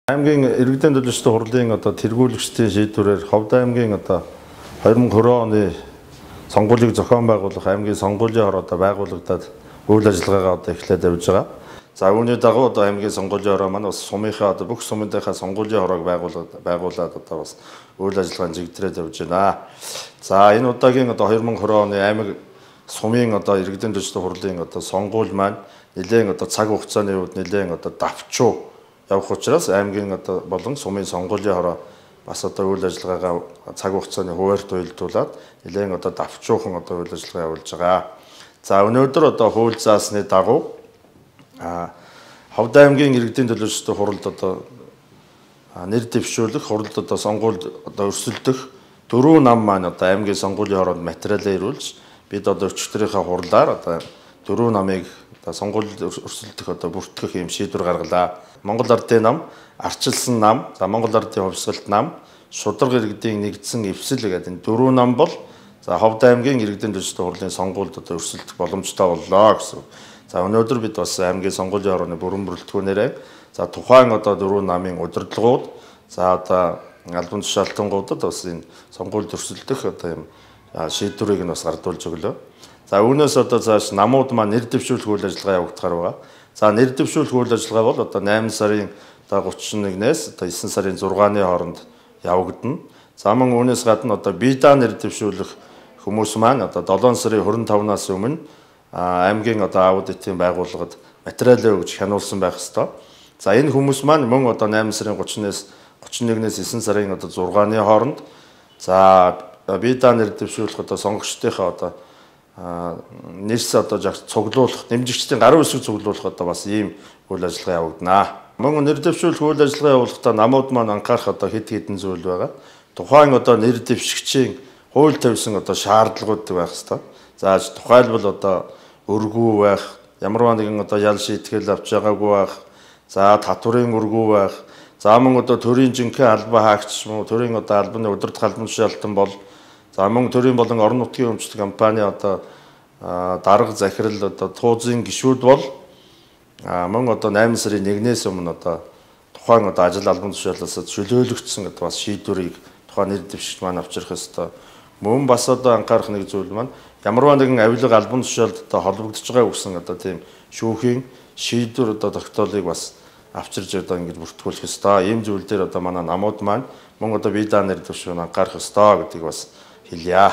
аймгийн иргэдийн төлөөлөлтийн хурлын тэргүүлэгчдийн шийдвэрээр Ховд аймгийн 2020 оны сонгуулийг зохион байгуулах аймгийн сонгуулийн хороо байгуулагдаад үйл ажиллагаагаа эхлээд явж байгаа. За үүний дагуу аймгийн сонгуулийн хороо маань бас сумынхаа бүх сумынхаа сонгуулийн хороог байгуулад бас үйл ажиллагаанд чигдрээд явж байна. За энэ удаагийн 2020 оны аймаг сумын иргэдийн төлөөлөлтийн хурлын сонгуул маань нэлээд цаг хугацааны үед нэлээд давчуу явах учраас аймгийн болон сумын сонгуулийн хороо бас үйл ажиллагаагаа цаг хугацааны хуваарьт уялдуулаад нэлээд давчуухан үйл ажиллагаа явуулж байгаа. За өнөөдөр хууль заасны дагуу Ховд аймгийн иргэдийн төлөөлөлтийн хуралд нэр дэвшүүлэх хуралд сонгуульд өрсөлдөх 4 нам маань аймгийн сонгуулийн хороонд материалаа ирүүлж бид өчигдрийнхаа хурлаар 4 намыг сонгуульд өрсөлдөх бүртгэх юм шийдвэр гаргалаа. Монгол Ардын нам, Арчилсан нам, Монгол Ардын хувьсгалт нам, Шударга иргэдийн нэгдсэн эвсэл гэдэг энэ 4 нам бол Ховд аймгийн иргэдийн төлөөлөлтийн хурлын сонгуульд өрсөлдөх боломжтой боллоо гэсэн. За өнөөдөр бид бас аймгийн сонгуулийн хорооны бүрэн бүрэлдэхүүнээрээ тухайн 4 намын удирдлагууд албан тушаалтангуудад бас энэ сонгуульд өрсөлдөх юм шийдвэрийг нь бас гардуулж өглөө. За үүнээс цааш намууд маань нэр дэвшүүлэх үйл ажиллагаа явагдахаар байгаа. За нэр дэвшүүлэх үйл ажиллагаа бол 8 сарын 31-ээс 9 сарын 6-ны хооронд явагдана. За мөн үүнээс гадна бие даа нэр дэвшүүлэх хүмүүс маань 7 сарын 25-наас өмнө аймгийн аудитын байгууллагад материалаа өгж хянуулсан байх ёстой. За энэ хүмүүс маань мөн 8 сарын 30-нээс 31-ээс 9 сарын 6-ны хооронд бие даа нэр дэвшүүлэх сонгогчдынхаа нэрс цуглуулах, дэмжигчдийн гарын үсэг цуглуулах бас ийм үйл ажиллагаа явагдана. Мөн нэр дэвшүүлэх үйл ажиллагаа явуулахдаа намууд маань анхаарах хэд хэдэн зүйл байгаа. Тухайн нэр дэвшигчийн хууль тавьсан шаардлагууд байх ёстой. За тухайлбал өргүү байх, ямар нэгэн ял шийтгэл авч байгаагүй байх, за татврын өргүү байх, за мөн төрийн жинхэнэ албан хаагч мөн төрийн албаны удирдах албан тушаалтан бол за мөн төрийн болон орон нутгийн өмчтөд компани дарга захирал туузын гишүүд бол мөн 8 сарын 1-ээс өмнө тухайн ажил албан тушаалаас чөлөөлөгдсөн бас шийдвэрийг тухайн нэр дэвшигч маань авчрах ёстой. Мөн бас анхаарах нэг зүйл маань ямар нэгэн авилга албан тушаалд холбогдож байгаа гэсэн тийм шүүхийн шийдвэр тогтоолыг бас авчирж ингэж бүртгүүлэх ёстой. Ийм зүйл дээр манай намууд маань мөн бие даа нэр дэвшүүн анхаарах ёстой гэдгийг бас хэлье.